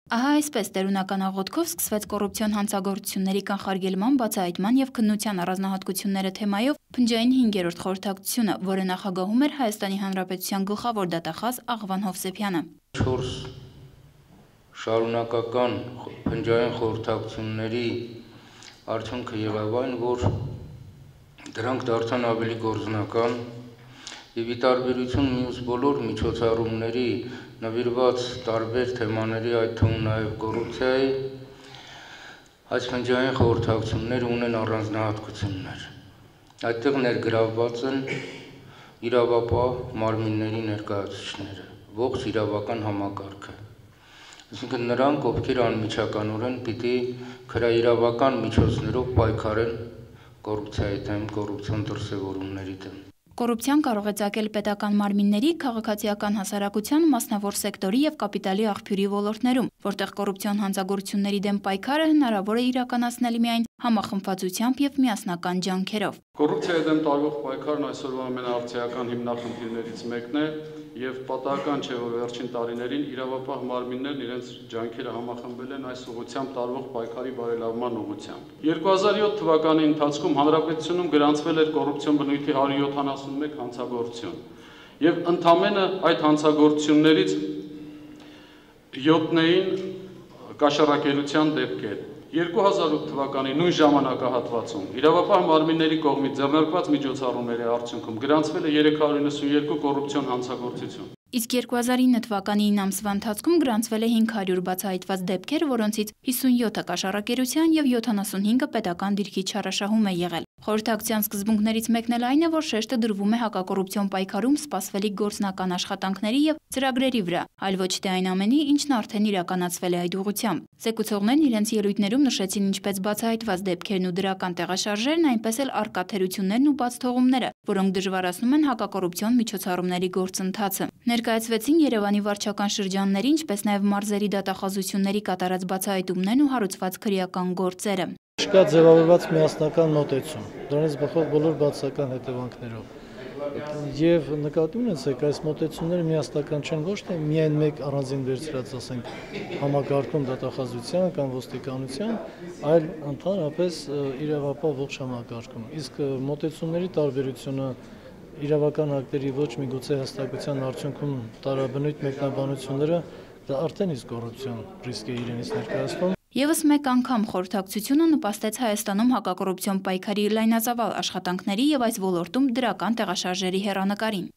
Ահա այսպես տերունական աղոթքով սկսվեց կոռուպցիոն հանցագործությունների կանխարգելման, բացահայտման և քննության առանձնահատկությունները թեմայով փնջային 5-րդ խորհրդակցությունը, որը նախագահում էր Հայաստանի Հանրապետության գլխավոր դատախազ Աղվան Հովսեփյանը։ 4 շարունակական փնջային խորհրդակցությունների արդյունքը եղավ այն, որ դրանք դարձան ավելի գործնական և ի տարբերություն մյուս բոլոր միջոցառումների նվիրված տարբեր թեմաների, այդ թվում նաև կոռուպցիայի, այս փնջային խորհրդակցությունները ունեն առանձնահատկություններ։ Այդտեղ ներգրավված են իրավապահ մարմինների ներկայացուցիչները, ողջ իրավական համակարգը։ Այսինքն նրանք, ովքեր անմիջականորեն պիտի քրաիրավական միջոցներով պայքարեն կոռուպցիայի դեմ, կոռուպցիոն դրսևորումների դեմ։ Կոռուպցիան կարող է ծագել պետական մարմինների, քաղաքացիական հասարակության, մասնավոր սեկտորի և կապիտալի աղբյուրի ոլորտներում, որտեղ կոռուպցիոն հանցագործությունների դեմ պայքարը հնարավոր է իրականացնել միայն համախմբվածությամբ և միասնական ջանքերով։ Կոռուպցիայի դեմ տարվող պայքարն այսօրվա ամենաարդիական հիմնախնդիրներից մեկն է և պատահական չէ, որ վերջին տարիներին իրավապահ մարմիններն իրենց ջանքերը համախմբել են այս ուղղությամբ տարվող պայքարի բարելավման ուղղությամբ։ 2007 թվականի ընթացքում հանրապետությունում գրանցվել էր կոռուպցիոն բնույթի 171 հանցագործություն և ընդամենը այդ հանցագործություններից 7-ին կաշառակերության դեպքեր։ 2008 թվականի նույն ժամանակահատվածում իրավապահ մարմինների կողմից ձեռնարկված միջոցառումների արդյունքում գրանցվել է 392 կոռուպցիոն հանցագործություն։ Իսկ 2009 թվականի 9 ամսվա ընթացքում գրանցվել է 500 բացահայտված դեպքեր, որոնցից 57-ը կաշառակերության և 75-ը պետական դիրքի չարաշահում է եղել։ Խորհրդակցության սկզբունքներից մեկն էլ այն է, որ շեշտը դրվում է հակակոռուպցիոն պայքարում սպասվելիք գործնական աշխատանքների և ծրագրերի վրա, այլ ոչ թե այն ամենի, ինչն արդեն իրականացվել է այդ ուղղությամբ։ Զեկուցողներն իրենց ելույթներում նշեցին ինչպես բացահայտված դեպքերն ու դրական տեղաշարժերն, այնպես էլ առկա թերություններն ու բացթողումները, որոնք դժվարացնում են հակակոռուպցիոն միջոցառումների գործընթացը։ Ներկայացվեցին Երևանի վարչական շրջանների, ինչպես նաև մարզերի դատախազությունների կատարած բացահայտումներն ու հարուցված քրեական գործերը։ Չկա ձևավորված միասնական մոտեցում, դրանից բխող բոլոր բացասական հետևանքներով։ Եվ նկատի ունեցեք, այս մոտեցումները միասնական չեն ոչ թե միայն մեկ առանձին վերցրած, ասենք, համակարգում դատախազության կամ ոստիկանության, այլ ընդհանրապես իրավապահ ողջ համակարգում։ Իսկ մոտեցումների տարբերությունը իրավական ակտերի ոչ միգուցե հաստատության արդյունքում տարաբնույթ մեկնաբանությունները դա արդեն իսկ կոռուպցիոն ռիսկ է իրենից ներկայացնում։ Եվս մեկ անգամ խորհրդակցությունը նպաստեց Հայաստանում հակակոռուպցիոն պայքարի լայնածավալ աշխատանքների և այս ոլորտում դրական տեղաշարժերի հեռանկարին։